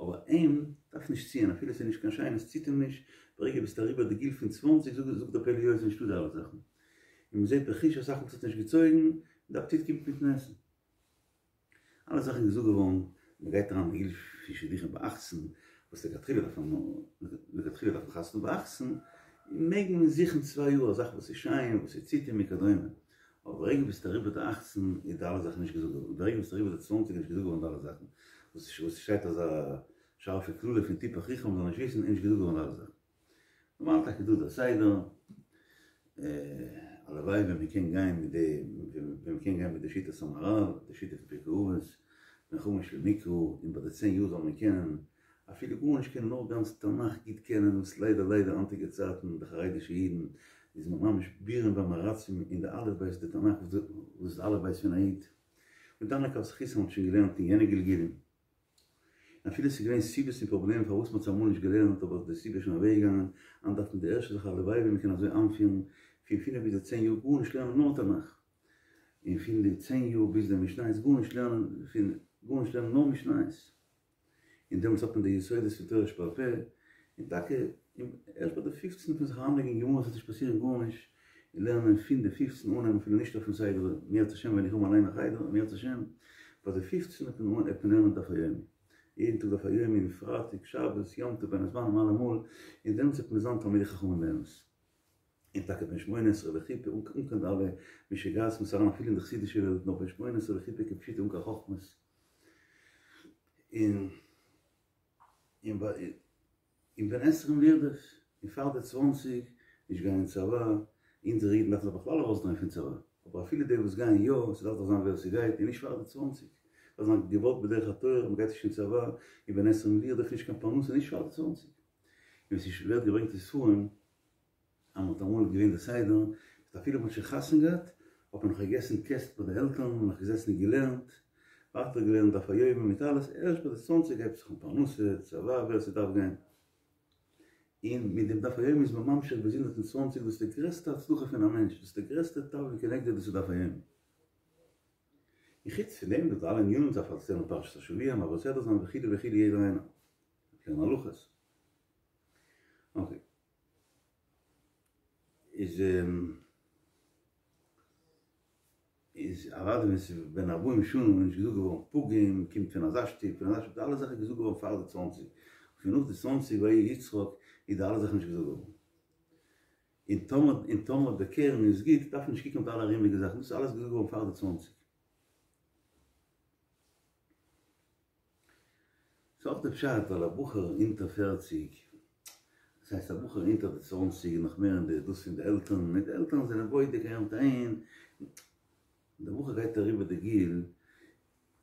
אבער אים דארף נישט ציען אפילו ס'איז נישט קיין שיינע ס'ציט אים נישט, ברגע ביסט אריבער די גיל פון צוואנציג זאגט דער פלא יועץ נישטא די אלע זאכן, און מען זעט בחוש אסאך מאל ס'האט נישט געצויגן, און די אפעטיט קומט מיטן עסן. אלע זאכן געזאגט געווארן, מען גייט אריין אין גיל פון שידוכים ביי אַכצן, וואס לכתחילה דארף מען לכתחילה דארף מען חתונה ביי אַכצן, מעג מען זוכן צוויי יאר א זאך וואס איז שיין, וואס איז ציט אים וכדומה, אבער ברגע ביסט אריבער די אַכצן איז די אלע זאכן נישט געזאגט געווארן, ברגע ביסט אריבער די צוואַנציק איז נישט געזאגט געווארן די אלע זאכן, וואס וואס שטייט אזא שארפע קללה פון תפח רוחם זאל נישט וויסן איז נישט געזאגט געווארן די אלע זאכן. נארמאל טאקע דא דער סדר, הלוואי ווען מען קען גיין מיט די, ווען מען קען גיין מיט די שיטת המהרל, די שיטה פון פרקי אבות, בן חמש למקרא, און ביי די צען יאר זאל מען קענען, אפילו גארנישט קענען נאר גאנץ תנך גוט קענען, וואס ליידער ליידער היינטיגע צייטן די חרדישע אידן איז מען ממש בורים ועמי הארצים אין די אלף בית די תנך וואס איז די אלף בית פון א איד, און דן לכף זכות מ'האט שוין געלערנט אין יענע גלגולים. אפילו ס'איז געווען סיבות און פראבלעמען פארוואס מ'האט עס אמאל נישט געלערנט אבער די סיבה איז שוין אוועקגעגאנגען, היינט דארף מען די ערשטע זאך הלוואי ווען מ'קען אזוי איינפירן, פון פינף ביז די צען יאר גארנישט לערנען נאר תנך, און פון די צען יאר ביז די משניות גארנישט לערנען פון גארנישט לערנען נאר משניות, און דעמאלטס האט מען די יסודות פון תורה שבעל פה, און טאקע ערשט ביי די פופצן וועט מען זיך אריינלייגן אין גמרא ס'וועט נישט פאסירן גארנישט, און לערנען פון די פופצן אנהייבן אפילו נישט אויפן סדר, אם ירצה השם ווען איך האב אליין א חדר, אם ירצה השם ביי די פופצן וועט מען וועט מען לערנען דף היומי, יעדן טאג דף היומי און פרייטאג, שבת, יום טוב, בין הזמנים אלעמאל, און דעמאלטס וועט מען זיין תלמידי חכמים באמת. און טאקע בן שמונה עשרה לחופה אן קיין די אלע משוגעת וואס אריין אפילו אין די חסידישע וועלט נאר בן שמונה עשרה לחופה כפשוטו אן קיין חכמות, און און ביי. און בן עשרים לרדוף, און פאר די צוואנציג נישט גיין אין צבא, אונזערע אידן דארפן זיך בכלל ארויסדרייען פון צבא, אבער אפילו די וואס גייען יא, ס'דארף דאך זיין ווער ס'גייט, און נישט פאר די צוואנציג, דארף זיין געוואלט בדרך התורה, מ'גייט נישט אין צבא, און בן עשרים לרדוף נישט קיין פרנסה נישט פאר די צוואנציג. און ווי ס'ווערט געברענגט אין ספרים, אז מ'האט אמאל געווען די סדר, אז אפילו מ'האט שוין חתונה געהאט, האט מען נאך געגעסן קעסט ביי די עלטערן, און נאך געזעסן און געלערנט, ווייטער געלערנט דף היומי מיט אלעס, ערשט ביי די צוואנציג הייבט זיך אן פרנסה, צבא, ווער ס'דארף גיין. און מיט דעם דף היומי איז מען ממשיך ביז הונדערט און צוואנציג, דאס איז די גרעסטע הצלחה פון א מענטש, דאס איז די גרעסטע תבלין כנגדו, דאס איז דף היומי. און חוץ פון דעם איז דא אלע ענינים, מ'דארף אלס לערנען פרשת השבוע, מעביר סדרה זיין וכו' וכו' יעדער איינער לערנען הלכות. אקעי. איז איז אוודאי ווען ס'איז בן ארבעים שנה איז נישט געזאגט געווארן פגום קומט פון אזא שטוב פון אזא שטוב די אלע זאכן איז געזאגט געווארן פאר די צוואנציג פון נאך די צוואנציג ויהי יצחק איז די אלע זאכן נישט געזאגט געווארן און טאמער און טאמער די קרן איז גוט דארף מען נישט קוקן אויף די אלע ארומיגע זאכן דאס איז אלעס געזאגט געווארן פאר די צוואנציג. ס'איז אויך די פשט ווייל א בחור אונטער פערציג, דאס הייסט א בחור אונטער די צוואנציג איז נאך מער אין די דאס פון די עלטערן, און די עלטערן זענען בודק אהער מיט אהין, די בחור גייט אריבער די גיל,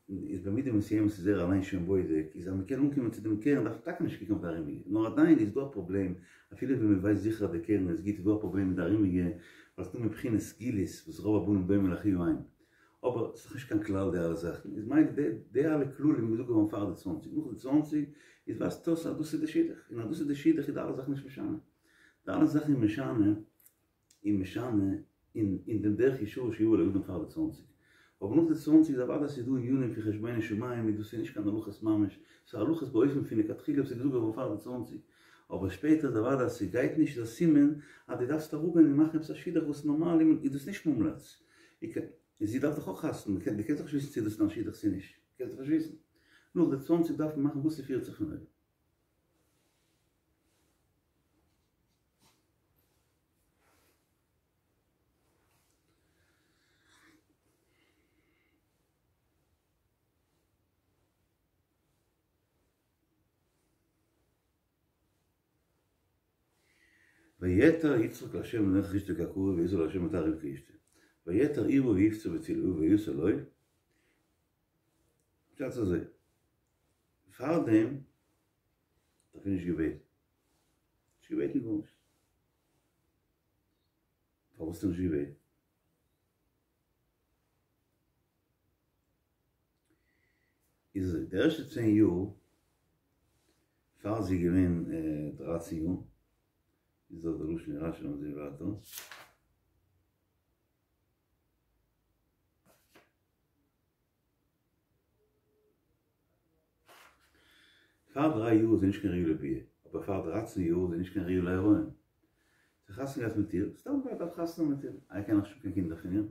איז במידה מסוימת איז ער אליין שוין בודק, איז אז מ'קען אנקומען צו דעם קרן דארף מען טאקע נישט קוקן אויף די ארומיגע, נאר עדיין איז דא א פראבלעם, אפילו ווען מ'ווייסט זיכער אז די קרן איז גוט איז דא א פראבלעם מיט די ארומיגע, ווייל ס'דא מבחינת סגולות וואס רוב הבנים דומה לאחיו אין, אבער ס'איז דאך נישט קיין כלל די אלע זאכן, איז מילא די די אלע כללים איז געזאגט געווארן פאר די צוואנציג, נאך די צוואנציג איז ווייזט אויס אז דאס איז די שידוך, און אז דאס איז די שידוך איז די אלע זאכן נישט משנה, די אלע זאכן איז משנה און משנה אין אין דעם דרך ישרה שיבוא לאדם פאר די צוואנציג, אבער נאך די צוואנציג איז אוודאי ס'איז דא ענינים פון חשבונות שמים און דאס איז נישט קיין הלכות ממש, ס'איז הלכות באופן פון לכתחילה וואס איז געזאגט געווארן פאר די צוואנציג, אבער שפעטער איז אוודאי אז ס'גייט נישט איז א סימן אז דו דארפסט אראפגיין און מאכן עפעס א שידוך וואס נארמאל איז דאס נישט מומלץ, און זי דארף דאך אויך חתונה, דו קענסט דאך נישט וויסן צו דאס איז דיין שידוך צו נישט, דו קענסט דאך נישט וויסן. נאך די צוואנציג דארף מען מאכן וואס ס'פירט זיך פון אויבן. ויעתר יצחק לה' לנוכח אשתו כי עקרה ויעתר לה' ותער רבקה אשתו. ויעתר ערבה ויפצר בתפילה ויעתר לו. פשט אזוי. פארדעם האט ער נישט געבעטן. נישט געבעטן גארנישט. פארוואס האט ער נישט געבעטן? איז אזוי, די ערשטע צען יאר פאר זי איז געווען דרײַצן יאר, איז דאך די לשון אין רשי לאמיר זעהן ווייטער. פאר דריי יאר איז זי נישט קיין ראויה לביאה, אבער פאר דרײַצן יאר איז זי נישט קיין ראויה להריון. זי האט חתונה געהאט מיט איר, סתם ווייל ער דארף חתונה האבן מיט איר, ער קען נאך נישט האבן קיין קינדער פון איר.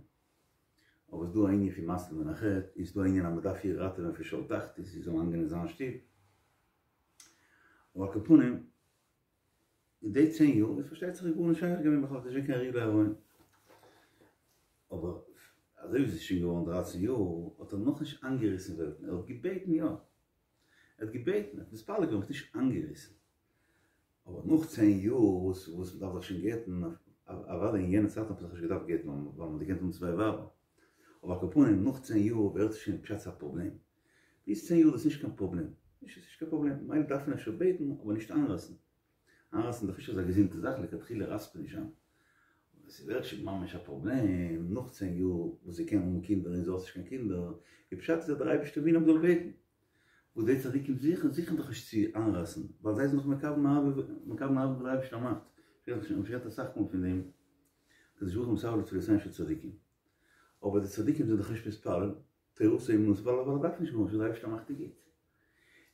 אבער ס'דא א ענין פון מציל מן החטא, און ס'דא א ענין אז מ'דארף איר ראטעווען פון שאול תחתית, זי זאל אריינגיין אין זיין שטוב. אבער על כל פנים, אין די צען יאר איז פארשטייט זיך גארנישט שייך געווען בכלל, ס'איז נישט געווען קיין ראויה להריון. אבער אזוי ווי זי איז שוין געווארן דרײַצן יאר, האט ער נאכנישט איינגעריסן וועלטן, ער האט געבעטן יא, ער האט געבעטן, ער האט מתפלל געווען, אבער נישט איינגעריסן. אבער נאך צען יאר וואס וואס מ'דארף זיך שוין גט'ן, אוודאי אין יענע צייטן האט מען זיך נישט געדארפט גט'ן ווייל מ'האט געקענט האבן צוויי ווייבער, אבער על כל פנים נאך צען יאר ווערט עס שוין פשט א פראבלעם, ביז צען יאר איז דאס נישט קיין פראבלעם, נישט עס איז נישט קיין פראבלעם, מילא דארף מען אפשר בעטן אבער נישט איינרייסן, איינרייסן איז דאך נישט אזא געזונטע זאך, לכתחילה רייסט מען נישט איין, אבער ס'ווערט שוין ממש א פראבלעם נאך צען יאר וואס זי קען האבן קינדער און זי האט נישט קיין קינדער, די פשט איז אז דער אייבערשטער וויל אז מ'זאל בעטן, וואס די צדיקים זוכן, זוכן דאך נישט צו איינרייסן, ווייל זיי זענען דאך מקבל אהבה, מקבל אהבה וואס דער אייבערשטער מאכט, שוין גערעדט אסאך מאל פון דעם, הקדוש ברוך הוא מסרב לתפילותיהן של צדיקים, אבער די צדיקים זענען דאך נישט מתפלל, תורתו אומנותו, ווייל ער דארף נישט גארנישט, וואס דער אייבערשטער מאכט איז גוט.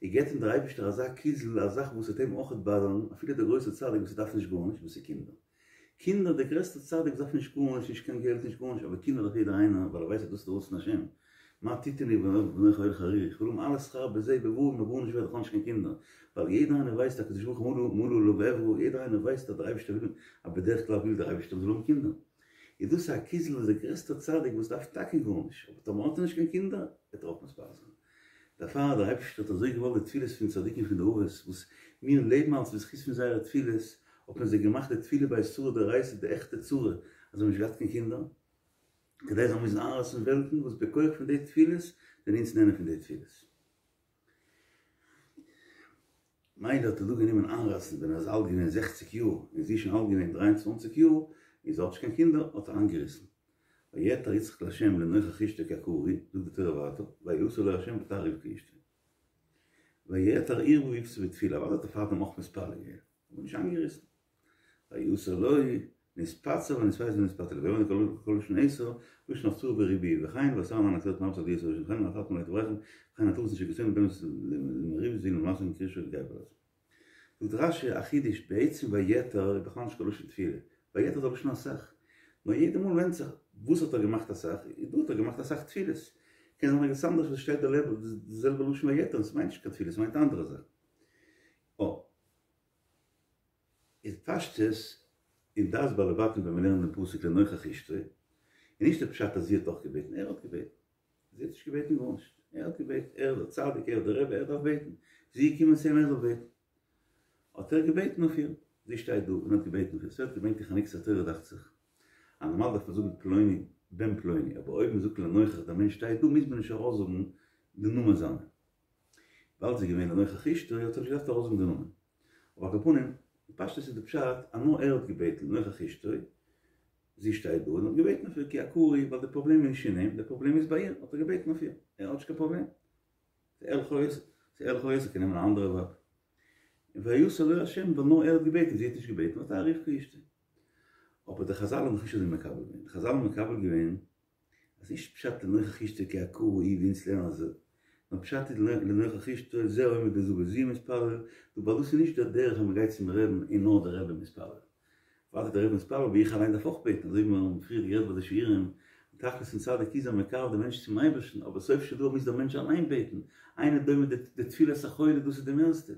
ער געבט אים דער אייבערשטער אזא קיצל, א זאך וואס וועט אים אויכעט באדערן, אפילו דער גרויסער צדיק וואס דארף נישט גארנישט, וואס איז קינדער. קינדער, דער גרעסטער צדיק דארף נישט גארנישט, נישט קיין געלט, נישט גארנישט, אבער קינדער דארף יעדער איינער, ווייל ער ווייסט אז דאס איז דער רצון השם. מה תתן לי ואנכי הולך ערירי, איך וויל האבן אלע שכר בזה ובבא, מיר גארנישט ווערד, איך האב נישט קיין קינדער. ווייל יעדער איינער ווייסט הקדוש ברוך הוא מלא עליו עברה, יעדער איינער ווייסט אז דער אייבערשטער וויל, אז בדרך כלל וויל דער אייבערשטער מ'זאל האבן קינדער. איז דאס א קיצל וואס דער גרעסטער צדיק וואס דארף טאקע גארנישט, אבער טאמער האט ער נישט קיין קינדער, וועט ער אויך מתפלל זיין. דערפאר דער אייבערשטער האט אזוי געוואלט די תפילות פון צדיקים פון די אבות, וואס מיר לעבן אלס בזכות פון זייערע תפילות, האט מען זיי געמאכט די תפילה בעת צרה דאורייתא, די עכטע צרה, אז זיי האבן נישט געהאט קיין קינדער, כדי זיי זאלן מוזן איינרייסן וועלטן, וואס בכח פון די תפילות זענען אונז נהנה פון די תפילות. מילא האט ער דא גענומען איינרייסן ווען ער איז אלט געווען זעכציק יאר און זי איז שוין אלט געווען דרײַ און צוואַנציק יאר און זי האט נישט קיין קינדער האט ער איינגעריסן ויעתר יצחק לה' לנוכח אשתו כי עקרה היא, זאגט די תורה ווייטער ויעתר לו ה' ותער רבקה אשתו ויעתר ערבה ויפצר בתפילה אוודאי האט ער פארדעם אויך מתפלל געווען אבער נישט איינגעריסן ויעתר לו נתפצר ונתפייס ונתפתה לו ויאמר כל לשון עתר לשון הפצרה וריבוי וכן והשר ענן הקטורת מרבה על ידי וכן נתת מלא תברכם וכן התורתן שכסוין בין למריב זין למעשה קרישו לגבי זאגט רשי א חידוש בעצם ויעתר איז בכלל נישט קיין לשון תפילה ויעתר איז א לשון אסאך נאר יעדע מאל ווענדט זיך וואס האט ער געמאכט אסאך איז דא האט ער געמאכט אסאך תפילות קען זיין ערגעץ אנדערש וואס שטייט די זעלבע לשון ויעתר און ס'מיינט נישט קיין תפילה ס'מיינט אנדערע זאכן. איז פשטות אין דעת בעלי בתים ווען מיר לערנען דעם פסוק לנוכח אשתו, איז נישט די פשט אז זי האט אויך געבעטן, ער האט געבעטן, זי האט נישט געבעטן גארנישט, ער האט געבעטן, ער איז דער צדיק, ער איז דער רבי, ער דארף בעטן, זי איז געקומען צו אים ער זאל בעטן, האט ער געבעטן אויף איר, זי שטייט דא און האט געבעטן אויף איר, ס'ווערט געברענגט אין חנוכת התורה דאכט זיך, אז נארמאל דארף מען זאגן פלוני בן פלוני, אבער אויב מען זאגט לנוכח דער מענטש שטייט דא מוז מען נישט ארויסזאגן די נאמען זיינע. ווייל זי איז געווען לנוכח אשתו האט ער נישט געדארפט ארויסזאגן די נאמען. אבער על כל פנים, בפשטות איז די פשט אז נאר ער האט געבעטן לנוכח אשתו, זי שטייט דא און האט געבעטן אויף איר כי עקרה היא, ווייל די פראבלעם איז נישט אין אים, די פראבלעם איז ביי איר, האט ער געבעטן אויף איר, ער האט נישט קיין פראבלעם. ס'איז ערליך אויס, ס'איז ערליך אויס, ער קען נעמען א אנדערע ווייב. און ויעתר לו השם, ווייל נאר ער האט געבעטן, זי האט נישט געבעטן, ותהר רבקה אשתו. אבער די חזל האבן נישט אזוי מקבל געווען, די חזל האבן מקבל געווען אז נישט פשט לנוכח אשתו כי עקרה היא ווי אונז לערנען אזוי, נאר פשט איז לנוכח אשתו זה העומד בזו וזו מתפלל, דא ווייל דאס איז נישט דער דרך אז מען גייט צום רעבן און נאר דער רבי מתפלל. אוודאי דער רבי מתפלל אבער איך אליין דארף אויך בעטן, אזוי ווי מיר האבן פריער גערעדט ביי די שיעורים, די תכלית פון צדיק איז אז מקרב די מענטש צום אייבערשטן, אבער סוף של דבר מוז דער מענטש אליין בעטן, אינו דומה די תפילת החולה דאס איז די מערסטע.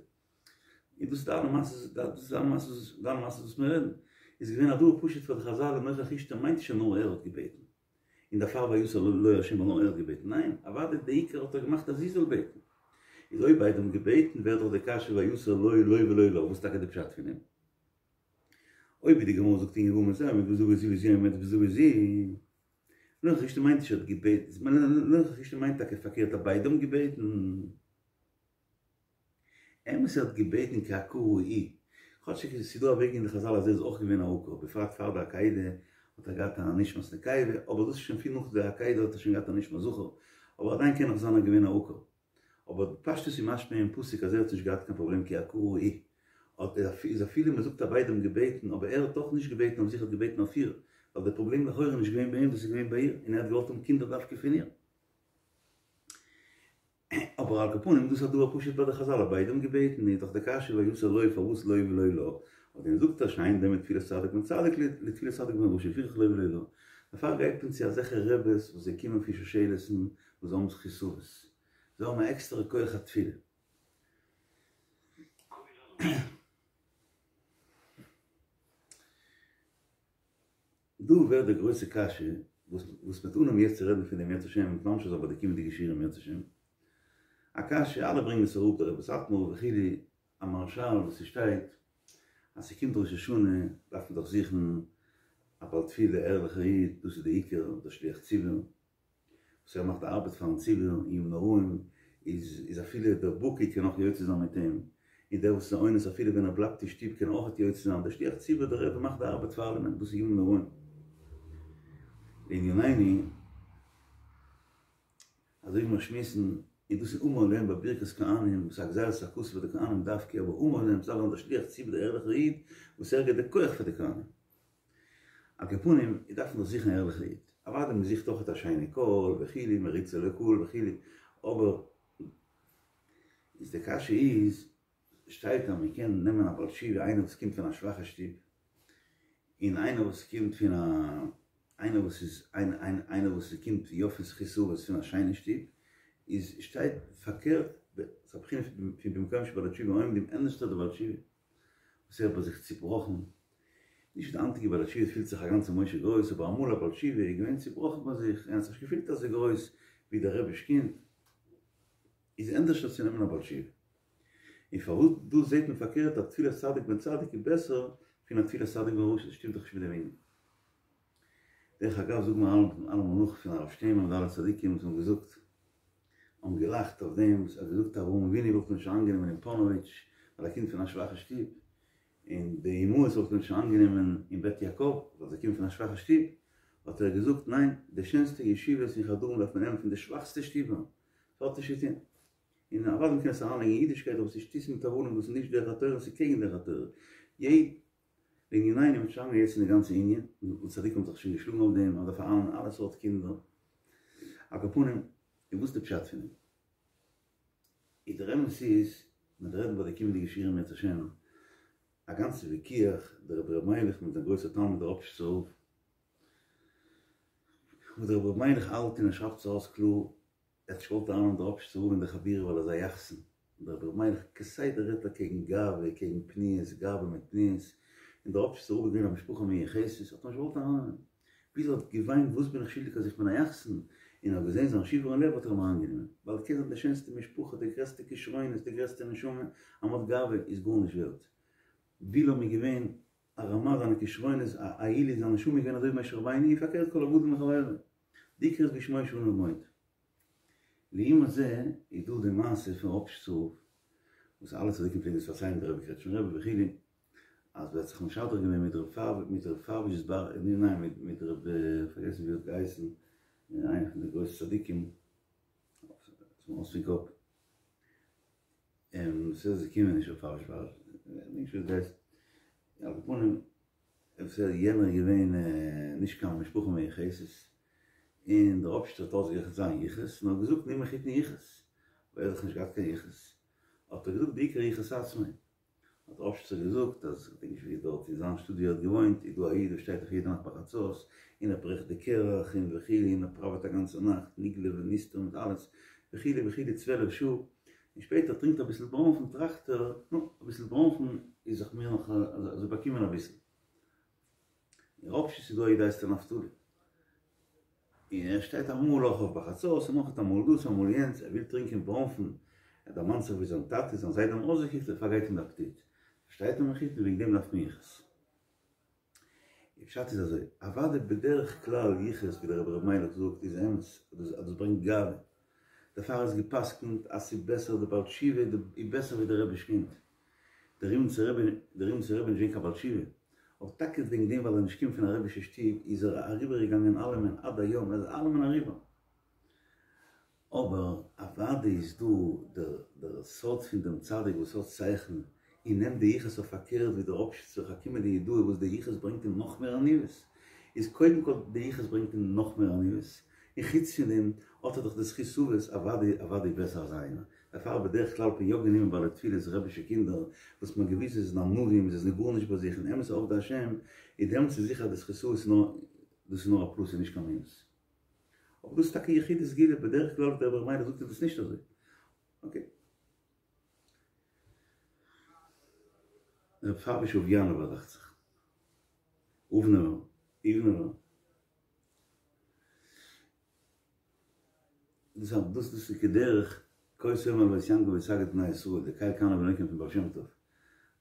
און דאס איז די אלע מעשות, דאס איז אלע מעשות, די אלע מעשות וואס מיר רעדן, איז געווען א דבר פשוט פאר די חזל לנוכח אשתו מיינט נישט אז נאר ער האט געבעטן, און דערפאר ויעתר לו השם ווייל נאר ער האט געבעטן, ניין, אוודאי די עיקר האט ער געמאכט אז זי זאל בעטן. איז אויב ביידע האבן געבעטן ווערט דאך די קשיא ויעתר לו לו ולא לה, וואס איז טאקע די פשט פון דעם? אויב ווי די גמרא זאגט אין יבמות זה העומד בזו וזו וזו העומדת בזו וזו, לנוכח אשתו מיינט נישט ער האט געבעטן, לנוכח אשתו מיינט טאקע פארקערט אז ביידע האבן געבעטן. אמת ער האט געבעטן כי עקרה היא, כאטשיג עס איז דא א וועג אין די חזל אז ער איז אויך געווען א עקר, בפרט פאר די עקידה האט ער געהאט א נשמת נקבה, אבער דאס איז שוין פיל נאך די עקידה האט ער שוין געהאט א נשמת זכר, אבער עדיין קען נאך זיין ער געווען א עקר. אבער בפשטות איז משמע אין פסוק אז ער האט נישט געהאט קיין פראבלעם כי עקרה היא, איז אפילו מען זאגט אז ביידע האבן געבעטן אבער ער האט דאך נישט געבעטן אויף זיך ער האט געבעטן אויף איר, ווייל די פראבלעם לכאורה איז נישט געווען ביי אים דאס איז געווען ביי איר און ער האט געוואלט האבן קינדער דווקא פון איר. אבער על כל פנים דאס איז א דבר פשוט ביי די חזל אז ביידע האבן געבעטן איז דאך די קשיא ויעתר לו פארוואס לו ולא לה, אויף דעם זאגט ער שאין דומה תפילת צדיק בן צדיק לתפילת צדיק בן רשע לפיכך לו ולא לה, דערפאר גייט מען צו אזעלכע רעבעס וואס זיי קומען פון שושלת'ן וואס זיי האבן זכות אבות, זיי האבן א עקסטערע כח התפילה. דא ווערט די גרויסע קשיא וואס וואס מ'וועט אנהויבן יעצט צו רעדן פון דעם אם ירצה השם און ממשיך זיין ביי די קומענדיגע שיעורים אם ירצה השם. א קשיא, אלע ברענגען עס אראפ, דער רבי סאטמאר וכו', א מהרש"ל וואס ס'שטייט אז ס'קומט ראש השנה דארף מען דאך זוכן א בעל תפילה ערליכער איד, דאס איז די עיקר, דער שליח ציבור. וואס ער מאכט די ארבעט פארן ציבור אין ימים נוראים איז איז אפילו דער בקי קען אויך יוצא זיין מיט אים, און דער וואס איז א אונס אפילו ווען ער בלייבט אין שטוב קען אויך יוצא זיין, דער שליח ציבור דער רבי מאכט די ארבעט פאר אלעמען, דאס איז ימים נוראים. לענינינו, אזוי ווי מיר שמועסן, און דאס איז אמור להם ביי ברכת כהנים, וואס איז א גזירת הכתוב פאר די כהנים דווקא, אבער אמור להם, ס'דארף זיין דער שליח ציבור דער ערליכער איד, וואס ער גיבט די כח פאר די כהנים. על כל פנים, איז דארף מען דאך זוכן א ערליכע איד. אוודאי מען זוכט אויך א שיינע קול וכו', מריצה לקהל וכו', אבער איז די קשיא איז, שטייט אז מען קען נעמען א בעל תשובה איינער וואס קומט פון א שוואכע שטוב, און איינער וואס קומט פון א, איינער וואס איז, איינער וואס קומט יא פון זכות אבות פון א שיינע שטוב, איז שטייט פארקערט, ס'איז א בחינה פון במקום שבעלי תשובה עומדים, ענדערשטער דער בעל תשובה. וואס ער האט ביי זיך צובראכן, נישט די היינטיגע בעל תשובה פילט זיך א גאנצע משה גרויס, אבער אמאל א בעל תשובה איז געווען צובראכן ביי זיך, ער האט זיך נישט געפילט אזוי גרויס ווי דער רבי'ש קינד, איז ענדערשער צו נעמען א בעל תשובה. און פארוואס דא זעט מען פארקערט אז תפילת צדיק בן צדיק איז בעסער פון א תפילת צדיק בן רשע, דאס שטימט דאך נישט מיט דעם ענין. דרך אגב זאגן מיר אלעמאל נאך פון הרב שטיינמאן און די אלע צדיקים וואס האבן געזאגט, האבן געלאכט אויף דעם וואס ער האט געזאגט אברהם אבינו וואלט מען נישט אריינגענומען אין פאנאוויטש ווייל ער קומט פון א שוואכע שטוב, און די אמהות וואלט מען נישט אריינגענומען אין בית יעקב ווייל זיי קומען פון א שוואכע שטוב, האט ער געזאגט ניין, די שענסטע ישיבות און חדרים דארף מען נעמען פון די שוואכסטע שטובער, ס'האט נישט צו טון. און אוודאי מ'קען עס אריינלייגן אין אידישקייט אבער ס'איז שטותים מיט הבלים וואס איז נישט דרך התורה און ס'איז קעגן דרך התורה. לענינינו מ'וועט שוין יעצט אין די גאנצע ענין, און צדיקים האבן זיך שוין געשלאגן אויף דעם, אז מ'דארף ארייננעמען אלע סארט קינדער, על כל פנים, און וואס איז די פשט פון דעם? איז דער אמת איז, מען וועט רעדן ביי די קומענדיגע שיעורים אם ירצה השם, א גאנצע וויכוח, דער רבי ר' מיילעך מיט זיין גרויסער תלמיד דער ראפשיצער רב, וואס דער רבי ר' מיילעך האלט און ער שרייבט עס ארויס קלאר, ער האט נישט געוואלט ארייננעמען דער ראפשיצער רב אין די חבורה ווייל ער איז א יחסן, דער רבי ר' מיילעך כסדר רעדט ער קעגן גאווה, קעגן פניות, גאווה מיט פניות, און דער ראפשיצער רב איז געווען א משפחה מיוחסת, האט ער נישט געוואלט ארייננעמען, ביז ער האט געוויינט וואס בין איך שולדיג אז איך בין א יחסן, און ער האט געזען זיין שברון לב האט ער אים אריינגענומען, ווייל ער קען זיין די שענסטע משפחה, די גרעסטע כשרונות, די גרעסטע נשמה, אז מ'האט גאווה איז גארנישט ווערט. בלעם איז געווען א רמה זיינע כשרונות, א עילוי, זיין נשמה איז געווען אזוי ווי משה רבינו, און פארקערט כל הגדול מחבירו. די עיקר איז בשמו שאנו עומד. לעומת זה איז דא די מעשה פון ראפשיצער רב וואס אלע צדיקים פלעגן עס פארציילן דער רבי קרעטשמער רבי וכו' אז ער האט זיך משדך געווען מיט ר' פאר מיט ר' פייוויש'ס בר ניין מיט מיט ר' פארגעסן ווי ער האט געהייסן איינער פון די גרויסע צדיקים ס'איז מיר אויס פון קאפ און ס'איז געקומען נישט ר' פייוויש בר נישט ווי עס הייסט על כל פנים אפשר יענער איז געווען נישט קיין משפחה מיוחסת און דער ראפשיצער האט אויסגערעכנט זיין יחוס און האט געזאגט נו מחותן יחוס ווייל ער האט דאך נישט געהאט קיין יחוס האט ער געזאגט בעיקר יחוס עצמו האט דער ראפשיצער געזאגט אז כ'דענק נישט ווי דארט אין זיין שטאט ווי ער האט געוואוינט איז דא א איד וואס שטייט אויף יעדע נאכט ביי חצות און ער ברעכט די קרח און וכו' און ער פראוועט א גאנצע נאכט נגלה ונסתר מיט אלעס וכו' וכו' צוועלף שעה און שפעטער טרינקט ער אביסל בראנפן טראכט ער נו אביסל בראנפן איז זיך מיר נאך אזוי באקומען אביסל. אין ראפשיץ איז דא א איד הייסט ער נפתלי און ער שטייט אמאל אויך אויף ביי חצות און אויך אמאל דאס אמאל יענץ ער וויל טרינקען בראנפן ער דערמאנט זיך ווי זיין טאטע זיין זיידע האבן אויסגעקוקט דערפאר גייט אים די אפעטיט פארשטייט מען מחותן וועגן דעם דארף מען יחוס די פשט איז אזוי אוודאי בדרך כלל יחוס ווי דער רבי ר' מיילעך זאגט איז אמת אז דאס ברענגט גאווה דערפאר איז געפסקנט אז ס'איז בעסער די בעל תשובה איז בעסער ווי די רבי'ש קינד דער ריבניצער רבי דער ריבניצער רבי איז נישט געווען קיין בעל תשובה, אבער טאקע וועגן דעם ווייל ער איז נישט געקומען פון א רבי'שע שטוב איז ער אריבער געגאנגען אלעמען עד היום ער איז אלעמען אריבער. אבער אוודאי איז דא דער דער סוד פון דעם צדיק וואס האט שכל און נעמט די יחוס אויף פארקערט ווי דער ראפשיצער חכימא דיהודאי וואס די יחוס ברענגט אים נאך מער עניוות איז קודם כל די יחוס ברענגט אים נאך מער עניוות און חוץ פון דעם האט ער דאך די זכות אבות אוודאי אוודאי בעסער אזא איינער דערפאר בדרך כלל האט מען יא גענומען בעלי תפילות רבי'שע קינדער וואס מ'האט געוואוסט זיי זענען ענווים זיי זענען גארנישט ביי זיך און אמת'ע עובדי השם איז דעמאלטס איז זיכער אז די זכות אבות איז נאר דאס איז נאר א פלוס און נישט קיין מינוס. אבער דאס איז טאקע יחידי סגולה בדרך כלל דער רבי ר' מיילעך זאגט איז דאס נישט אזוי. אקעי. ר' פייוויש אוביאנובער דאכט זיך. אובנובער. איוונובער. דאס איז דאס דאס איז כדרך כה תאמר אל בית יעקב ותגיד בני ישראל די קל קנא ונוקם פון בעל שם טוב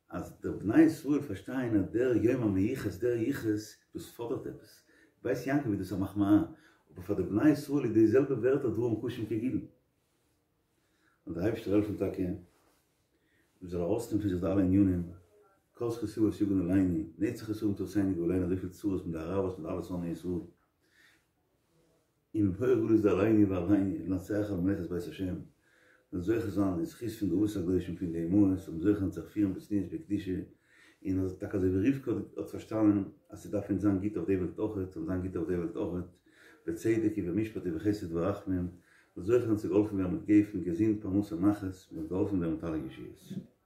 אז די בני ישראל פארשטייען אז דער יום המיוחס דער יחוס דאס פאדערט עפעס בית יעקב איז דאס א מחמאה אבער פאר די בני ישראל איז די זעלבע ווערטער דברים קשים כגילוי און דער אייבערשטער העלפן טאקע מען זאל ארויסנעמען פון זיך די אלע ענינים כל זכות אבות יגן עלינו נצח ישראל תורתנו גאלינו אזויפיל צרות מיט די אראבערס מיט אלע שונאי ישראל און בפועל גלות דעלינו ועלינו לנצח על מלאכת בית השם, מ'זאל זוכה זיין אין זכות פון די אבות הקדושים פון די אמהות זאל מען זוכה זיין זיך פירן בצניעות בקדושה, און אז טאקע אזוי ווי רבקה האט פארשטאנען אז ס'דארף אונז זיין גוט אויף די וועלט אויכעט, זאל זיין גוט אויף די וועלט אויכעט, בצדק ובמשפט ובחסד ורחמים, מ'זאל זוכה זיין צו געהאלפן ווערן מיט גפן, געזונט, פרנסה, נחת, מ'זאל געהאלפן ווערן מיט אלע ישועות.